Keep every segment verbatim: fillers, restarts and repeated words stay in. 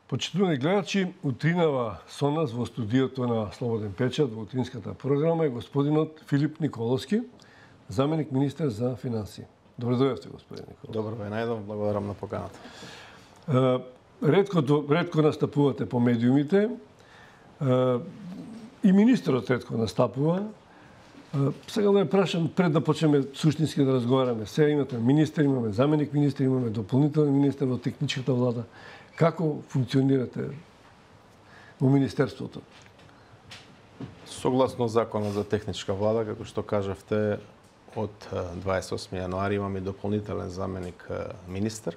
Почитувани гледачи, утринава со нас во студиото на Слободен печат во утринската програма е господинот Филип Николовски, заменик министер за финансии. Добро дојдовте, господин Николовски. Добро ве најдов, благодарам на поканата. Ретко, ретко настапувате по медиумите. И министерот ретко настапува. Сега да ја прашам, пред да почнеме суштински да разговараме. Сега имате министер, имаме заменик министер, имаме дополнителен министер во техничката влада. Како функционирате во министерството? Согласно законот за техничка влада, како што кажавте, од дваесет и осми јануари имаме дополнителен заменик министер.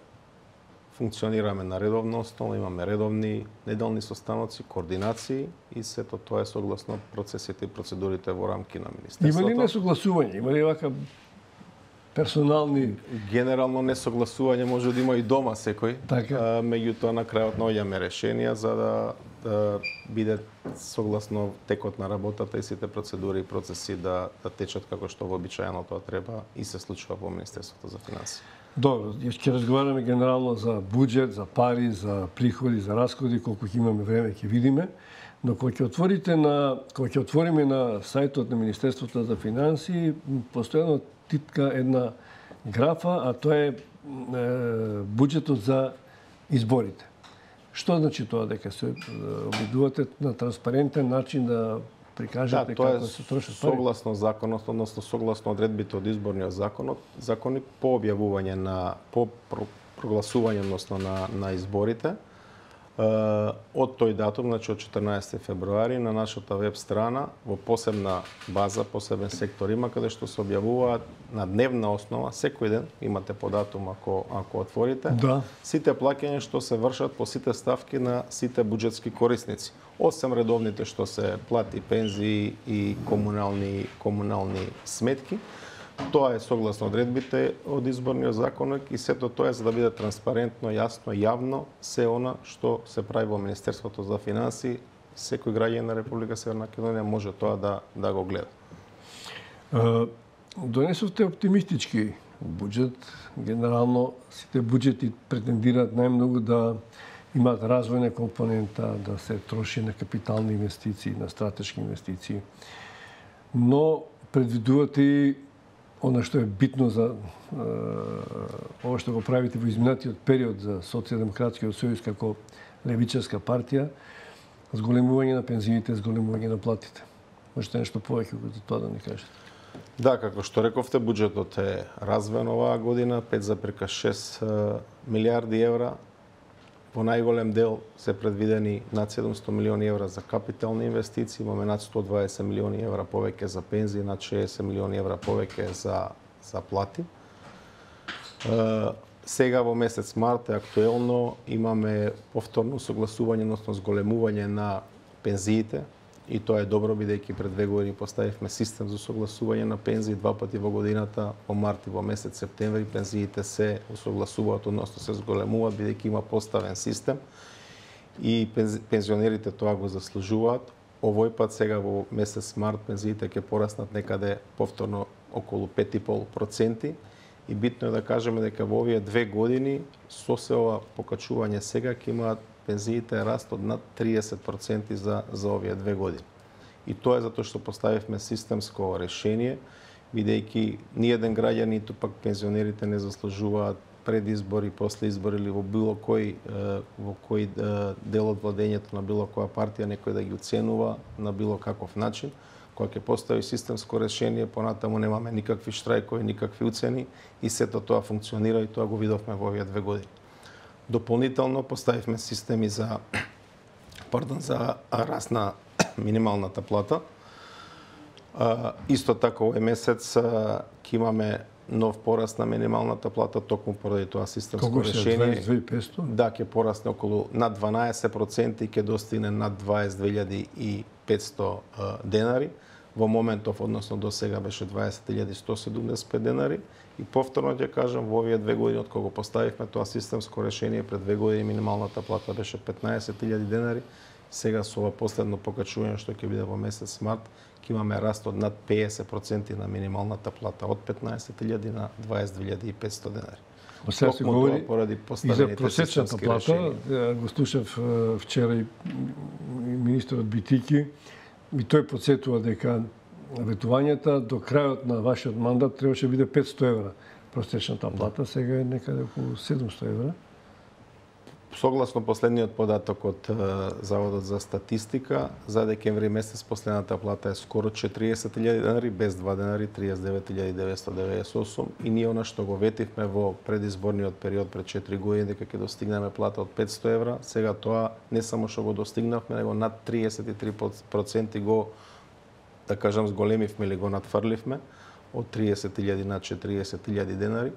Функционираме на редовна основа, имаме редовни неделни состаноци, координации и сето тоа е согласно процесите и процедурите во рамки на министерството. Има ли несогласување? Има ли вака персонални... Генерално несогласување може да има и дома секој. Така. Меѓутоа на крајот наоѓаме решенија за да, да биде согласно текот на работата и сите процедури и процеси да, да течат како што вообичаено тоа треба и се случува во Министерството за финансии. Добро, ќе разговараме генерално за буџет, за пари, за приходи, за расходи, колку ќе имаме време ќе видиме. Но кога ќе отворите на кога ќе отвориме на сајтот на Министерството за финансии, постојано титка една графа, а тоа е, е буџетот за изборите. Што значи тоа, дека се обидувате на транспарентен начин да прикажете да, како се трошат пари? Согласно законот, односно согласно одредбите од изборниот законот, закони по објавување на по прогласување односно на на изборите од тој датум, значи од четрнаесети февруари, на нашата веб страна во посебна база, посебен сектор има каде што се објавуваат на дневна основа секој ден, имате по датум ако ако отворите. Да. Сите плаќања што се вршат по сите ставки на сите буџетски корисници, осем редовните што се плати пензии и комунални комунални сметки. Тоа е согласно одредбите од изборниот законник и сето тоа е за да биде транспарентно, јасно, јавно се она што се прави во Министерството за финансии. Секој граѓанин на Република Северна Македонија може тоа да да го гледа. Донесовте оптимистички буџет. Генерално сите буџети претендираат најмногу да имаат развојна компонента, да се троши на капитални инвестиции, на стратешки инвестиции. Но предвидувате и она што е битно за е, ова што го правите во изминатиот период за Социјалдемократскиот сојуз како левичарска партија, зголемување на пензиите, зголемување на платите. Можете нешто повеќе за тоа да ни кажете? Да, како што рековте, буџетот е развоен оваа година, пет зарез шест милијарди евра. Во најголем дел се предвидени над седумстотини милиони евра за капитални инвестиции, имаме над сто дваесет милиони евра повеќе за пензии, над шеесет милиони евра повеќе за за плати. Е, сега во месец март е актуелно, имаме повторно согласување, односно зголемување на пензиите. И тоа е добро, бидејќи пред две години поставивме систем за согласување на пензии два пати во годината, во март и во месец септември пензиите се согласуваат, односно се зголемуваат, бидејќи има поставен систем и пензионерите тоа го заслужуваат. Овој пат сега во месец март пензиите ќе пораснат некаде повторно околу пет и пол проценти и битно е да кажеме дека во овие две години со се ова покачување сега ќе имаат пензиите раст од над триесет проценти за за овие две години. И тоа е затоа што поставивме системско решение, бидејќи ниеден граѓанин, ниту пак пензионерите не заслужуваат пред избори, после избори или во било кој во кој дел од владењето на било која партија некој да ги уценува на било каков начин. Кога ќе постави системско решение, понатаму немаме никакви штрајкови, никакви уцени и сето тоа функционира и тоа го видовме во овие две години. Дополнително поставивме системи за пардон за раст на минималната плата. А, исто така овој месец ќе имаме нов пораст на минималната плата токму поради тоа системско решение. дваесет две илјади и петстотини? Да, ќе порасне околу над дванаесет проценти и ќе достигне над дваесет две илјади и петстотини денари. Во моментов, односно до сега беше дваесет илјади сто седумдесет и пет денари. И повторно ќе кажам, во овие две години од кога го поставивме тоа системско решение, пред две години минималната плата беше петнаесет илјади денари. Сега со ова последно покачување што ќе биде во месец март, ќе имаме раст од над петдесет проценти на минималната плата, од петнаесет илјади на дваесет две илјади и петстотини денари. Сега се говори поради и за поставените просечната системски плата. решенија. Го слушав е, вчера и министерот Битики и тој подсетува дека ветувањата до крајот на вашиот мандат требаше да биде петсто евра просечната плата, сега е некаде околу седумсто евра. Согласно последниот податок од е, Заводот за статистика, за декември месец последната плата е скоро четириесет илјади денари, без два денари триесет и девет илјади деветстотини деведесет и осум, и ние она што го ветивме во предизборниот период пред четири години дека ќе достигнеме плата од петсто евра, сега тоа не само што го достигнавме, него над триесет и три проценти го, да кажам, зголемивме или го надфрливме од триесет илјади на четириесет илјади денари.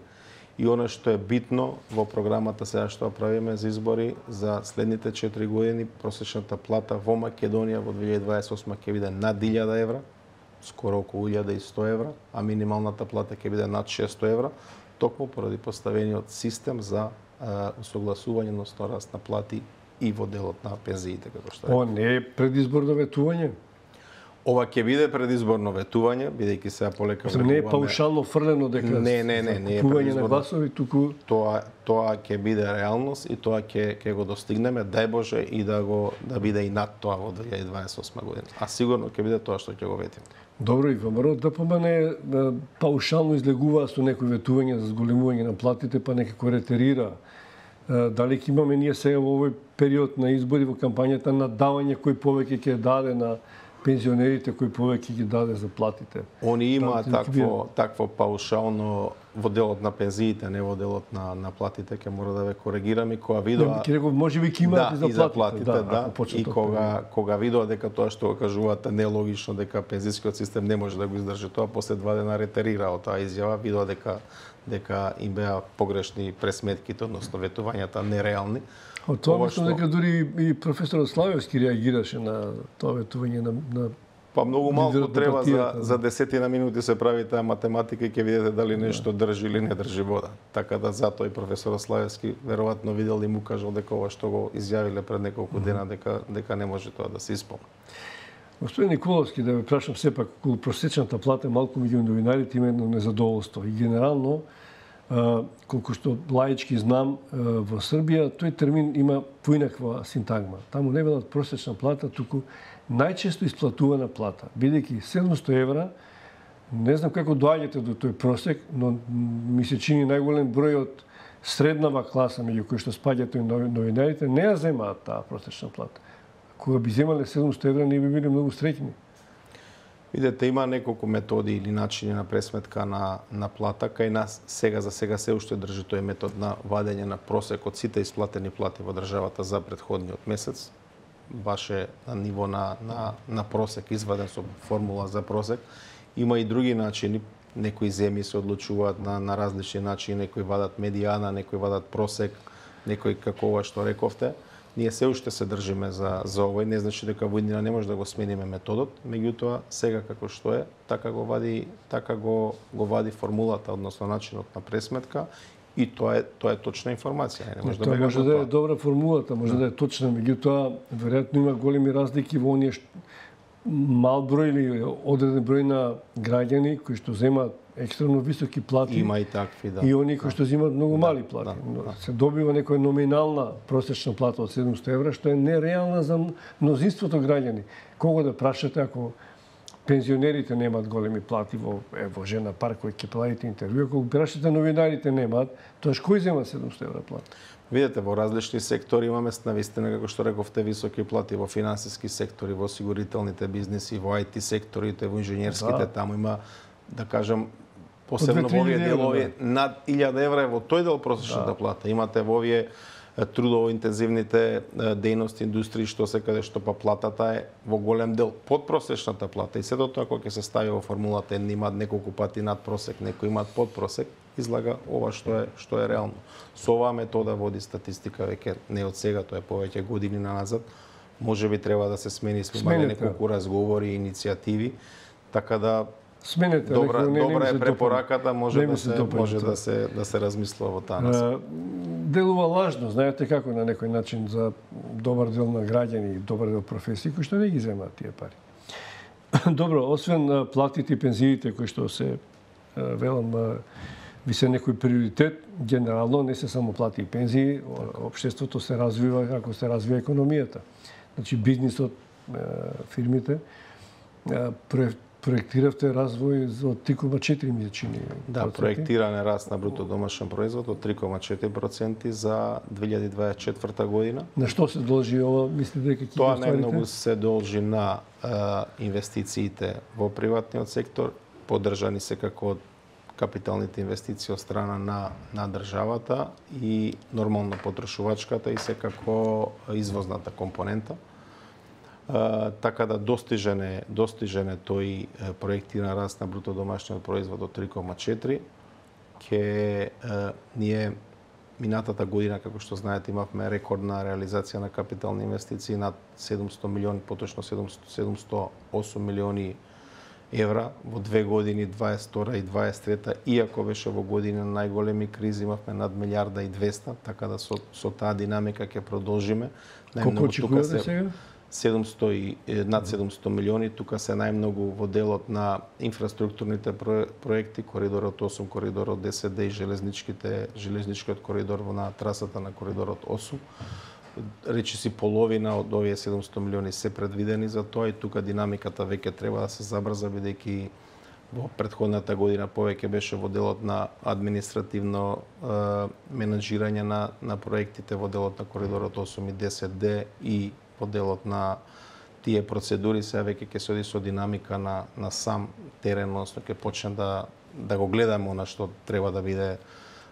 И она што е битно во програмата сега што правиме за избори за следните четири години, просечната плата во Македонија во две илјади дваесет и осма ќе биде над илјада евра, скоро околу илјада и сто евра, а минималната плата ќе биде над шестсто евра, токму поради поставениот систем за а, усогласување на раст на плати и во делот на пензиите, како што е. Ова не е предизборно ветување. Ова ќе биде предизборно ветување, бидејќи сега полека Се не е паушално фрлено дека Не, не, не, не е купување на предизборно. гласови, туку Тоа тоа ќе биде реалност и тоа ќе ќе го достигнеме, дај Боже, и да го да биде и над тоа во две илјади дваесет и осма година. А сигурно ќе биде тоа што ќе го ветиме. добро, и ВМРО ДПМН е, паушално излегува со некои ветување за зголемување на платите, па некако ретерира. Е, Дали ќе имаме ние сега во овој период на избори во кампањата надавање кој повеќе ќе даде на пензионерите, кој повеќе ги даде за платите? Они има Таа, такво такво паушално во делот на пензиите, не во делот на на платите, ќе мора да ве коригирам, и кога видоа Ќе реков, може би ќе имаат да, и за платите, да, да, да, и кога кога видоа дека тоа што го кажуваат нелогично, дека пензискиот систем не може да го издржи тоа, после два дена ретерира од таа изјава, видоа дека дека им беа погрешни пресметките, односно ветувањата нереални. Од тоа Ова мислам што- дека дури и професорот Славевски реагираше на тоа ветување на, на Па многу малку лидерот на треба за партијата, за десетина минути се прави таа математика и ќе видите дали нешто држи или не држи вода. Така да затоа и професорот Славевски веројатно видел и му кажал дека ова што го изјавиле пред неколку дена дека дека не може тоа да се исполни. Господин Николовски, да ве прашам сепак, околу просечната плата малку меѓу новинарите има едно незадоволство. И генерално, а, колку што лаички знам, а, во Србија тој термин има поинаква синтагма. Таму не велат просечна плата, туку најчесто исплатувана плата. Бидејќи седумсто евра, не знам како доаѓате до тој просек, но ми се чини најголем број од среднава класа меѓу кои што спаѓаат и новинарите не ја земаат таа просечна плата. Кога би земале седумсто евра, не би биле многу среќни. Видете, има неколку методи или начини на пресметка на на плата, кај нас сега за сега се уште држи тој метод на вадење на просек од сите исплатени плати во државата за претходниот месец. Баш е на ниво на на на просек изваден со формула за просек. Има и други начини. Некои земји се одлучуваат на на различни начини, некои вадат медијана, некои вадат просек, некои како ова што рековте. Ние се уште се држиме за за овој, не значи дека во иднина не може да го смениме методот, меѓутоа сега како што е, така го вади, така го го вади формулата, односно начинот на пресметка, и тоа е тоа е точна информација, не може да Тоа бега може од да е тоа. добра формулата, може да е точна, меѓутоа веројатно има големи разлики во оние што мал број или одреден број на граѓани кои што земаат екстремно високи плати. Има и такви, да. И оние кои што земаат многу мали плати. да, Но да. се добива некоја номинална просечна плата од седумсто евра, што е нереална за мнозинството граѓани. Кого да прашате ако пензионерите немаат големи плати во ево Жена парк кој ќе правите интервју, ако прашате новинарите немаат, тоа кој зема седумсто евра плата? Видете, во различни сектори имаме навистина, како што рековте, високи плати во финансиски сектори, во осигурителните бизниси, во ај ти секторите, во инженерските, Да. таму има, да кажам, посебно две-три во овие илјади делови, евра, над илјада евра е во тој дел просечната Да. плата. Имате во овие е, трудово интензивните е, дејности, индустрии, што се каде што па платата е во голем дел под просечната плата. И сето тоа кога ќе се стави во формулата, едни имаат неколку пати над просек, некои имаат под просек, излага ова што е што е реално. Со оваа метода води статистика веќе не од сега, тоа е повеќе години назад. Може би треба да се смени, сме имали Сменете. неколку разговори и иницијативи, така да Сменете, добра некој не- не добра ми е се препораката, може Не ми да се се допаѓа може тоа. да се да се размислува во таа насока. А, делува лажно, знаете како на некој начин за добар дел на граѓани и добар дел професии кои што не ги земаат тие пари. Добро, освен а, платите и пензиите кои што се а, велам а, ви се некој приоритет, генерално не се само плати и пензии, општеството се развива како се развива економијата. Значи бизнисот, фирмите, проектиравте развој за три кома четири милијани. Да, проектиране раст на бруто домашен производ од три кома четири проценти за две илјади дваесет и четврта година. На што се должи ова, мислите дека ќе Тоа најмногу се должи на а, инвестициите во приватниот сектор, поддржани се како капиталните инвестиции од страна на, на државата и нормално потрошувачката и секако извозната компонента. Uh, така да достижен е, достижен е тој проектиран раст на бруто домашниот производ од три кома четири. Ке uh, ние минатата година, како што знаете, имавме рекордна реализација на капитални инвестиции над седумсто милиони, поточно седумсто и осум милиони евра во две години, дваесет и втора и дваесет и трета, иако беше во години на најголеми кризи, имавме над милијарда и двеста, така да со, со таа динамика ќе продолжиме. Колку очекувате сега? седумсто и над седумсто милиони, тука се најмногу во делот на инфраструктурните проекти, коридорот осум, коридорот десет Д и железничките, железничкиот коридор во на трасата на коридорот осум. Речиси половина од овие седумсто милиони се предвидени за тоа и тука динамиката веќе треба да се забрза, бидејќи во претходната година повеќе беше во делот на административно е, менаџирање на, на проектите во делот на коридорот осум и десет Д и во делот на тие процедури, сега веќе ќе се оди со динамика на, на сам терен, односно ќе почне да, да го гледаме она што треба да биде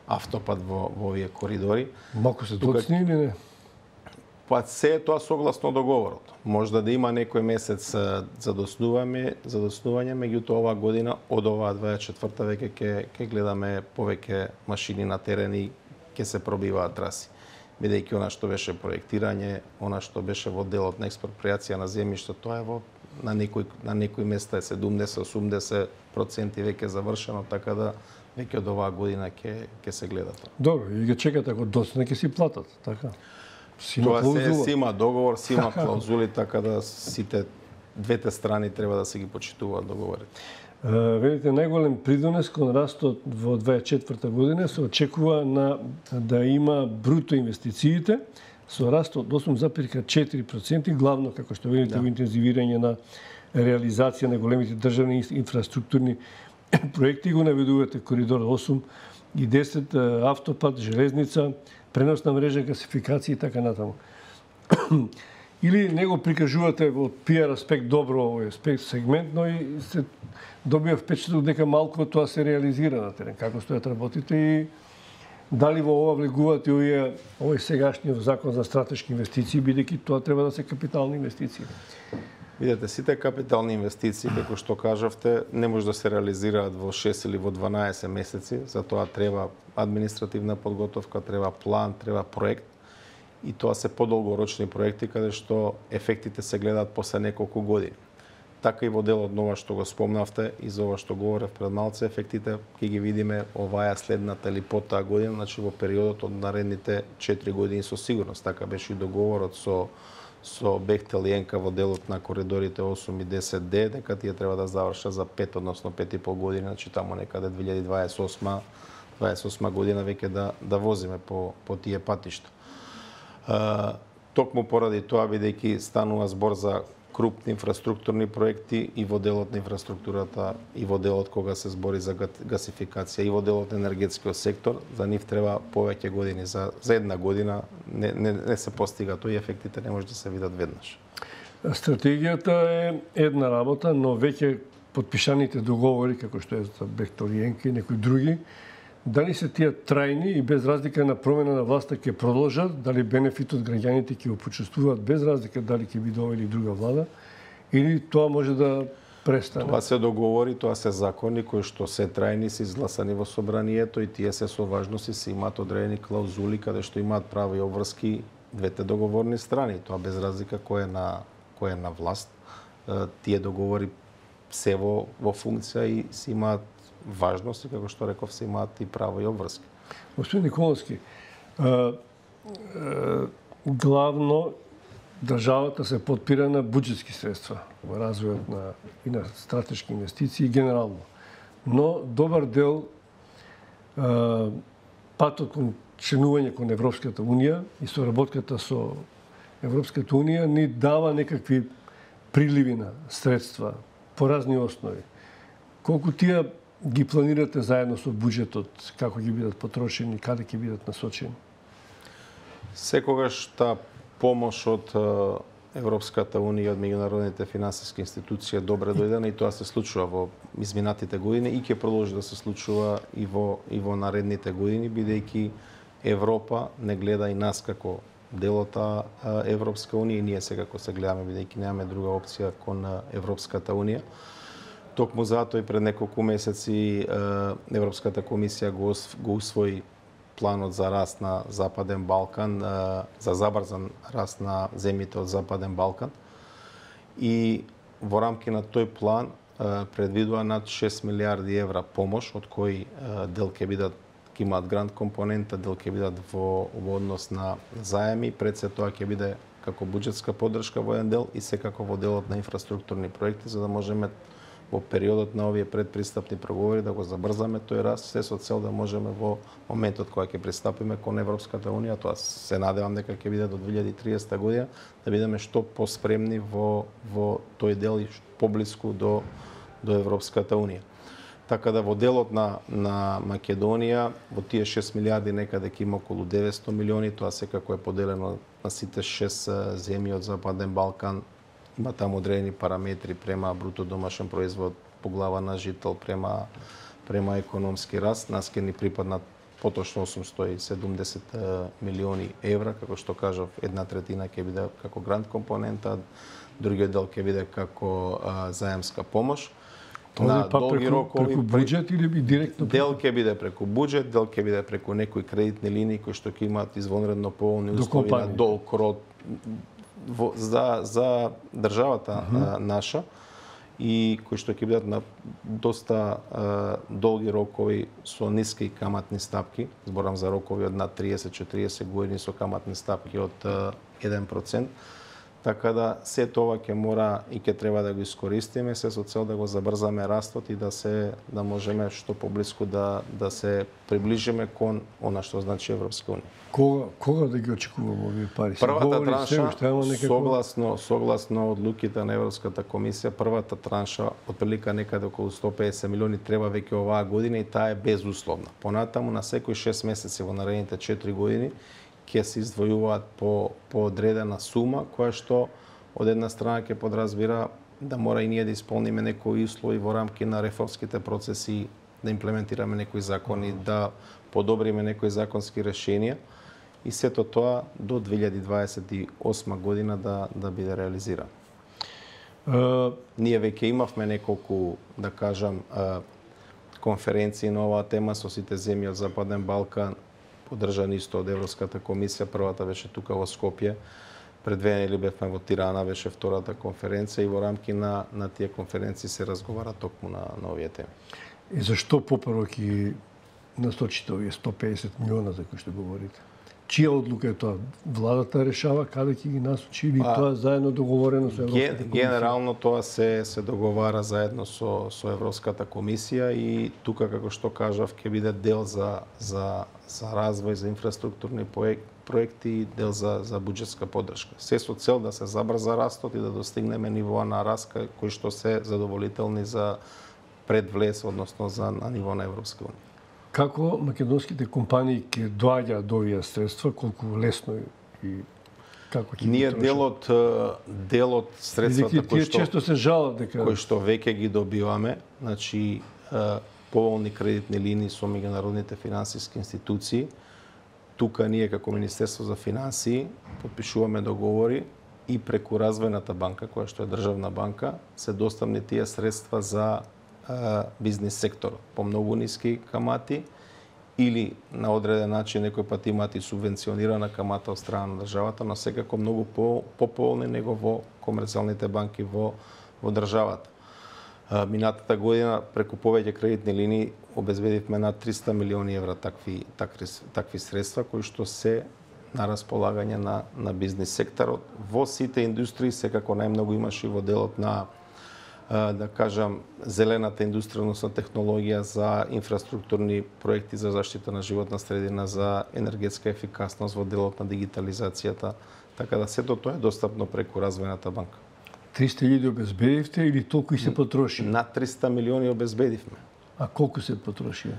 автопат во, во овие коридори. Малку се доцни или не? Па се е тоа согласно договорот. Можда да има некој месец задоснување, задоснување, меѓутоа оваа година од оваа дваесет и четврта веќе ќе ќе гледаме повеќе машини на терен и ќе се пробиваат траси. Бидејќи она што беше проектирање, она што беше во делот на експроприација на земјиште, тоа е во на некои на некои места е седумдесет до осумдесет проценти веќе завршено, така да веќе од оваа година ќе ќе се гледа тоа. Добро, и ги чекате ако доцне ќе си платат, така? Тоа се си има договор, си има клаузули, така да сите двете страни треба да се ги почитуваат договорите. Велите, најголем придонес кон растот во дваесет и четврта година се очекува на да има бруто инвестициите со раст од осум запирка четири проценти, главно како што видите да. Во интензивирање на реализација на големите државни инфраструктурни проекти, го наведувате коридор осум и десет, автопат, железница, преносна мрежа, гасификација и така натаму. Или не го прикажувате во пиар аспект добро овој аспект сегмент, но и се добива впечаток дека малку тоа се реализира на терен. Како стојат работите и дали во ова влегуваат и овие овој сегашниот закон за стратешки инвестиции, бидејќи тоа треба да се капитални инвестиции. Видете, сите капитални инвестиции, како што кажавте, не може да се реализираат во шест или во дванаесет месеци, за тоа треба административна подготовка, треба план, треба проект. И тоа се подолгорочни проекти каде што ефектите се гледаат после неколку години. Така и во делот на ова што го спомнавте и за ова што говорев пред малце, ефектите ќе ги видиме оваа следната или потаа година, значи во периодот од наредните четири години со сигурност. Така беше и договорот со со Бехтел и Енка во делот на коридорите осум и десет Д, дека тие треба да завршат за пет, односно пет и пол години, значи таму некаде две илјади дваесет и осма, дваесет и осма година веќе да да возиме по по тие патишта. Uh, токму поради тоа, бидејќи станува збор за крупни инфраструктурни проекти и во делот на инфраструктурата, и во делот кога се збори за гасификација, и во делот на енергетскиот сектор, за нив треба повеќе години. За, за една година не, не, не се постига тој, ефектите не може да се видат веднаш. Стратегијата е една работа, но веќе подпишаните договори, како што е за Бехтел и Енка и некои други, дали се тие трајни и без разлика на промена на власта ќе продолжат, дали бенефитот граѓаните ќе го почувствуваат без разлика дали ќе биде ова или друга влада, или тоа може да престане? Тоа се договори, тоа се закони кои што се трајни, се изгласани во собранието и тие се со важност и се имаат одредени клаузули каде што имаат прави обврски двете договорни страни. Тоа без разлика кој е на кој е на власт. Тие договори се во во функција и се имаат важност и, како што реков, се имаат и право и обврски. Господин Николовски, а, а, главно државата се подпира на буџетски средства во развојот на и на стратешки инвестиции генерално. Но добар дел патот кон членување кон Европската Унија и соработката со Европската Унија ни дава некакви приливи на средства по разни основи. Колку тие ги планирате заедно со буџетот, како ги бидат потрошени, каде ќе бидат насочени? Секогаш таа помош од Европската Унија, од меѓународните финансиски институции е добре дојдена и тоа се случува во изминатите години и ќе продолжи да се случува и во и во наредните години, бидејќи Европа не гледа и нас како дел од таа Европска Унија и ние секако се гледаме, бидејќи немаме друга опција кон Европската Унија. Токму затоа и пред неколку месеци Европската комисија го, го усвои планот за раст на Западен Балкан, за забрзан раст на земјите од Западен Балкан. И во рамки на тој план предвидува над шест милиарди евра помош, од кои дел ќе бидат ќе имаат грант компонента, дел ќе бидат во, во однос на заеми, пред се тоа ќе биде како буџетска поддршка во еден дел и секако во делот на инфраструктурни проекти, за да можеме во периодот на овие предпристапни преговори да го забрзаме тој раст, се со цел да можеме во моментот кога ќе пристапиме кон Европската Унија, тоа се надевам дека ќе биде до две илјади и триесета година, да бидеме што поспремни во во тој дел и поблиску до до Европската Унија. Така да во делот на на Македонија во тие шест милиарди некаде ќе има околу деветсто милиони, тоа секако е поделено на сите шест земји од Западен Балкан. Има таму одредени параметри према бруто домашен производ по глава на жител, према према економски раст. Нас ќе ни припаднат поточно осумсто и седумдесет милиони евра, како што кажав, една третина ќе биде како грант компонента, другиот дел ќе биде како а, заемска помош. На долги преку, рокови преку буџет или би директно? Дел ќе биде преку буџет, дел ќе биде преку некои кредитни линии кои што ќе имаат извонредно поволни услови на долг род во, за за државата uh -huh. а, наша и кои што ќе бидат на доста а, долги рокови со ниски каматни стапки. Зборам за рокови од над триесет до четириесет години со каматни стапки од а, еден процент. Така да се тоа ќе мора и ќе треба да го искористиме, се со цел да го забрзаме растот и да се да можеме што поблиску да да се приближиме кон она што значи Европска Унија. Кога кога да ги очекуваме овие пари? Првата транша, некако... согласно согласно одлуките на Европската комисија, првата транша отприлика некаде околу сто и педесет милиони треба веќе оваа година и таа е безусловна. Понатаму на секои шест месеци во наредните четири години ќе се издвојуваат по, по одредена сума, која што од една страна ќе подразбира да мора и ние да исполниме некои услови во рамки на реформските процеси, да имплементираме некои закони, да подобриме некои законски решенија и сето тоа до две илјади дваесет и осма година да, да биде реализирано. Uh... Ние веќе имавме неколку, да кажам, конференции на оваа тема со сите земји од Западен Балкан, поддржани исто од Европската комисија. Првата беше тука во Скопје, пред две недели бевме во Тирана, беше втората конференција и во рамки на, на тие конференции се разговара токму на, на овие теми. И зашто попрво ќе насочите овие сто и педесет милиона за кои што говорите? Чија одлука е тоа? Владата решава каде ќе ги насочи или а, тоа заедно договорено со Европската комисија? Генерално тоа се се договара заедно со со Европската комисија и тука како што кажав ќе биде дел за за за развој, за инфраструктурни проекти и дел за за буџетска поддршка. Се со цел да се забрза растот и да достигнеме нивоа на раст кои што се задоволителни за предвлез, односно за на ниво на Европска унија. Како македонските компании ќе доаѓаат до овие средства, колку лесно и како ќе ние делот делот средствата кои што често се жалат дека кои што веќе ги добиваме, значи поволни кредитни линии со меѓународните финансиски институции. Тука ние како Министерство за финансии потпишуваме договори и преку Развојната банка, која што е државна банка, се доставни тие средства за бизнис секторот по многу ниски камати или на одреден начин некој пат имаат и субвенционирана камата од страна на државата, но секако многу по пополни него во комерцијалните банки во во државата. Минатата година преку повеќе кредитни линии обезбедивме над триста милиони евра такви такви такви средства кои што се на располагање на на бизнис секторот во сите индустрии, секако најмногу имаше во делот на да кажам, зелената индустрија, односно технологија за инфраструктурни проекти за заштита на животна средина, за енергетска ефикасност во делот на дигитализацијата. Така да сето тоа е достапно преку Развојната банка. триста илјади обезбедивте или толку и се потроши? Над триста милиони обезбедивме. А колку се потроши?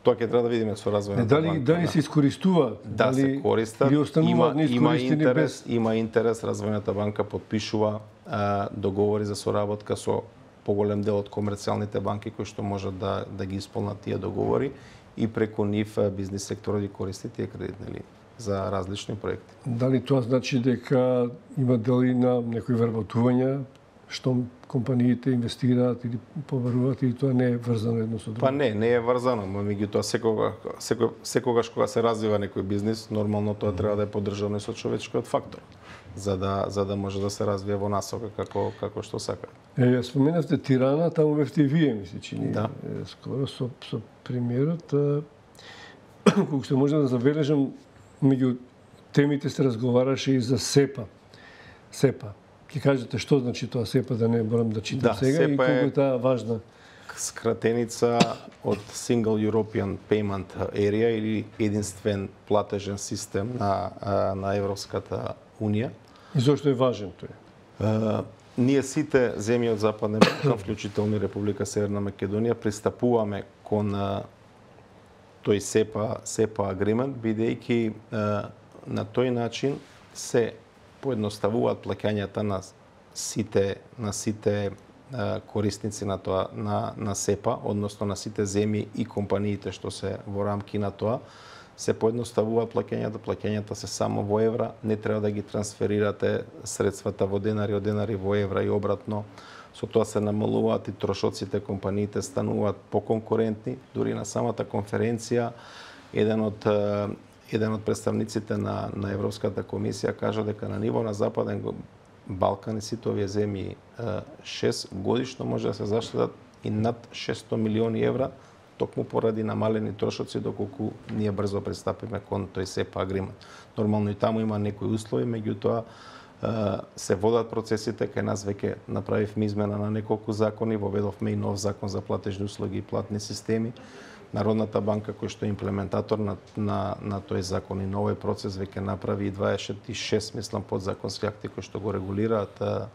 Тоа ќе треба да видиме со Развојната дали, банка. Дали се искористуваат? Да, дали, се користат. Или остануваат Има, има неискористени интерес, без... има интерес. Развојната банка подпишува а, договори за соработка со поголем дел од комерцијалните банки кои што можат да, да ги исполнат тие договори и преку нив бизнис секторот ги користи тие кредитни линии за различни проекти. Дали тоа значи дека има дели на некои вработувања, што компаниите инвестираат или побаруваат, или тоа не е врзано едно со друго? Па не, не е врзано, но меѓутоа секога, секогаш, секогаш кога се развива некој бизнис, нормално тоа треба да е поддржано со човечкиот фактор, за да за да може да се развие во насока како како што сака. Е, ја споменавте Тирана, таму бевте и вие, ми се чини. Да. Е, скоро со со премиерот, колку што може да забележам, меѓу темите се разговараше и за СЕПА. СЕПА. Ќе кажете што значи тоа СЕПА, да не морам да читам Да, сега, и СЕПА колку е е таа важна? Скратеница од Single European Payment Area или единствен платежен систем на на Европската унија. И зошто е важен тој? Ние сите земји од Западна Балкан, вклучително и Република Северна Македонија, пристапуваме кон тој СЕПА СЕПА агримент, бидејќи на тој начин се поедноставуваат плаќањата на сите на сите корисници на тоа на на СЕПА, односно на сите земји и компаниите што се во рамки на тоа, се поедноставуваат плаќањата, плаќањата се само во евра, не треба да ги трансферирате средствата во денари, од денари во евра и обратно. Со тоа се намалуваат и трошоците, компаниите стануваат поконкурентни. Дури на самата конференција еден од еден од представниците на на Европската комисија кажа дека на ниво на Западен Балкан и сите овие земји шест годишно може да се заштедат и над шестстотини милиони евра токму поради намалени трошоци доколку ние брзо пристапиме кон тој СЕПА агримент. Нормално и таму има некои услови, меѓутоа се водат процесите, кај нас веќе направивме измена на неколку закони, воведовме и нов закон за платежни услуги и платни системи. Народната банка, кој што е имплементатор на, на, на тој закон и новој процес, веќе направи и дваесет и шест, мислам, подзаконски акти кои што го регулираат а,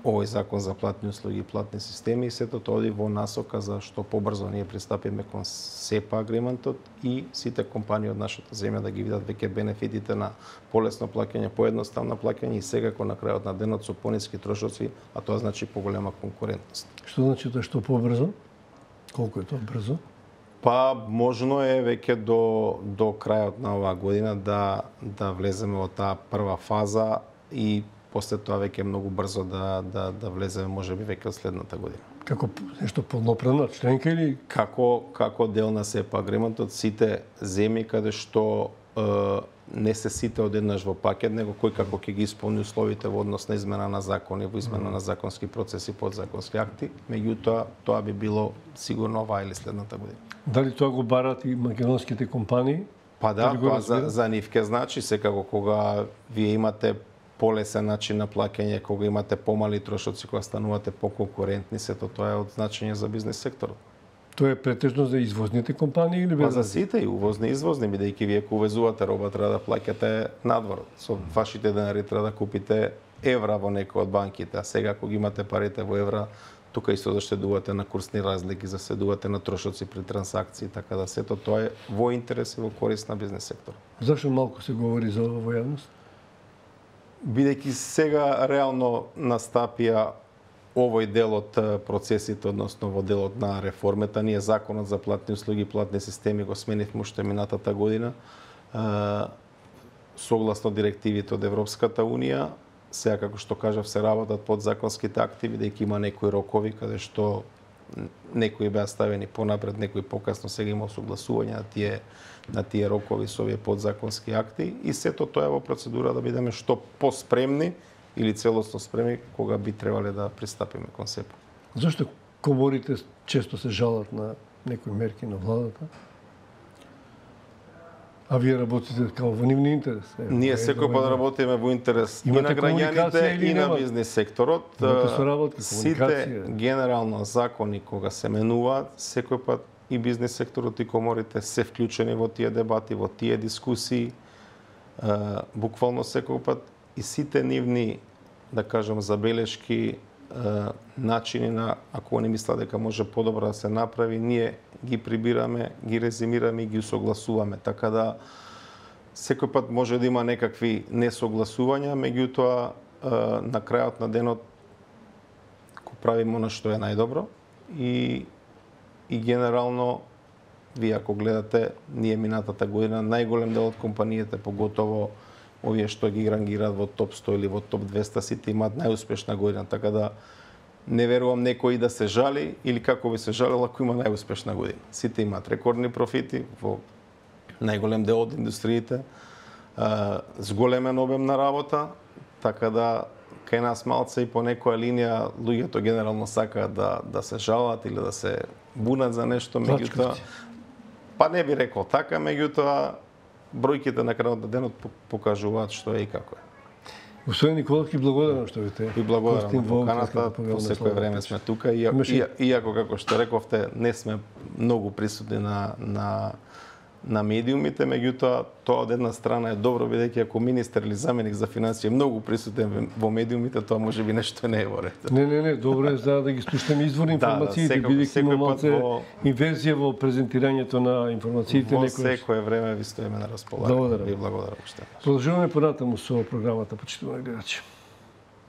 овој закон за платни услуги и платни системи, и сето тоа оди во насока за што побрзо ние пристапиме кон СЕПА агриментот и сите компании од нашата земја да ги видат веќе бенефитите на полесно плаќање, поедноставно плаќање и секако на крајот на денот со пониски трошоци, а тоа значи поголема конкурентност. Што значи тоа што побрзо? Колку е тоа брзо? Па можно е веќе до до крајот на оваа година да да влеземе во таа прва фаза и после тоа веќе многу брзо да да да влеземе можеби веќе од следната година. Како нешто полноправна членка или како како дел на СЕПА агриментот сите земји каде што е, не се сите одеднаш во пакет, него кој како ќе ги исполни условите во однос на измена на закони, во измена на законски процеси, подзаконски акти, меѓутоа тоа би било сигурно оваа или следната година. Дали тоа го барат и македонските компании? Па да, Дали го тоа за, разбират? за нив ке значи секако кога вие имате полесен начин на плаќање, кога имате помали трошоци, кога станувате поконкурентни, сето тоа е од значење за бизнис секторот. Тоа е претежно за извозните компании или Па без? за сите и увозни и извозни, бидејќи вие кога увезувате роба треба да плаќате надвор. Со вашите денари треба да купите евра во некој од банките, а сега кога имате парите во евра, тука исто заштедувате на курсни разлики, заштедувате на трошоци при трансакции, така да сето тоа е во интерес и во корист на бизнис секторот. Зашо малку се говори за ова во јавност? Бидејќи сега реално настапија овој дел од процесите, односно во делот на реформата, ние законот за платни услуги и платни системи го сменивме уште минатата година, согласно директивите од Европската унија. Сега, како што кажав, се работат подзаконските акти, бидејќи има некои рокови каде што некои беа ставени понапред, некои покасно, сега има согласување на тие на тие рокови со овие подзаконски акти и сето тоа е во процедура да бидеме што поспремни или целосно спремни кога би требале да пристапиме кон СЕПА. Зошто коморите често се жалат на некои мерки на владата? А вие работите како во нивни интерес? Е, Ние секој пат работиме во интерес и на граѓаните и на бизнес секторот. Сите генерално закони кога се менуваат, секој пат и бизнес секторот и коморите се вклучени во тие дебати, во тие дискусии, буквално секој пат и сите нивни, да кажем, забелешки, начини на, ако они мислат дека може подобро да се направи, ние ги прибираме, ги резимираме и ги усогласуваме. Така да секој пат може да има некакви несогласувања, меѓутоа на крајот на денот го правиме она што е најдобро и и генерално вие ако гледате, ние минатата година најголем дел од компаниите, поготово овие што ги рангираат во топ сто или во топ двеста, сите имаат најуспешна година, така да не верувам некој да се жали или како би се жалил ако има најуспешна година. Сите имаат рекордни профити во најголем дел од индустриите, зголемен обем на работа, така да кај нас малце и по некоја линија луѓето генерално сакаат да да се жалат или да се бунат за нешто, меѓутоа па не би рекол така, меѓутоа бројките на крајот на денот покажуваат што е и како е. Господин Николов, ви благодарам што ви те. Ви благодарам на поканата, по секое време сме тука и, и, иако како што рековте не сме многу присутни на на на медиумите, меѓутоа тоа од една страна е добро, бидејќи ако министер или заменик за финансии е многу присутен во медиумите, тоа можеби нешто не е во ред. Не, не, не, добро е за да ги слушнеме извори информациите, да, бидејќи има малце во... инверзија во презентирањето на информациите. Во секое време ви стоиме на располагање. Благодарам. Ви благодарам уште. Продолжуваме понатаму со програмата, почитувани гледачи.